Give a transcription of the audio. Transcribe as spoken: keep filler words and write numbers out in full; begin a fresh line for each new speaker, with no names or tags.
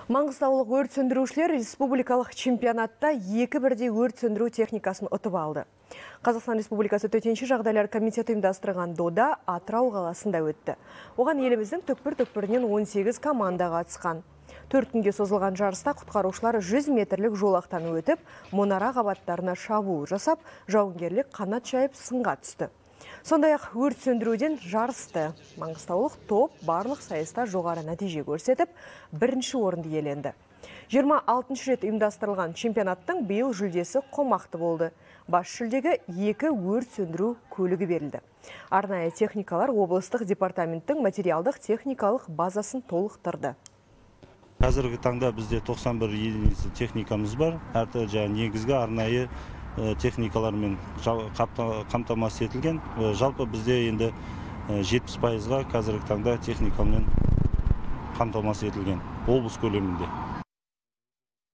Маңғыстаулық өрт сөндірушілер республикалық чемпионатта екі бірдей өрт сөндіру техникасын ұтып алды. Қазақстан Республикасы төтенше жағдайлар комитеті ұйымдастырған дода Атырау қаласында өтті. Оған еліміздің түкпір-түкпірінен он сегіз команда қатысқан. Төрт күнге созылған жарыста құтқарушылар жүз метрлік жолақтан өтіп, мұнара қабаттарына шабуыл жасап, жауынгерлік қанат жайып сынға түсті. Сондай-ақ өрт сөндіруден жарысты. Маңғыстаулық топ барлық сайыста жоғары нәтиже көрсетіп, бірінші орынды иеленді. жиырма алтыншы рет ұйымдастырылған чемпионаттың биыл жүлдесі қомақты болды. Бас жүлдеге екі өрт сөндіру көлігі берілді. Арнайы техникалар облыстық департаменттің материалдық техникалық базасын толықтырды.
Қазіргі таңда бізде тоқсан бір единица техникамыз бар. Әрті жаңа негізгі арнайы техникалармен қамтамасыз етілген. Жалпы бізде енді жетпіс пайызға қазіргі таңда техникамен қамтамасыз етілген облыс көлемінде.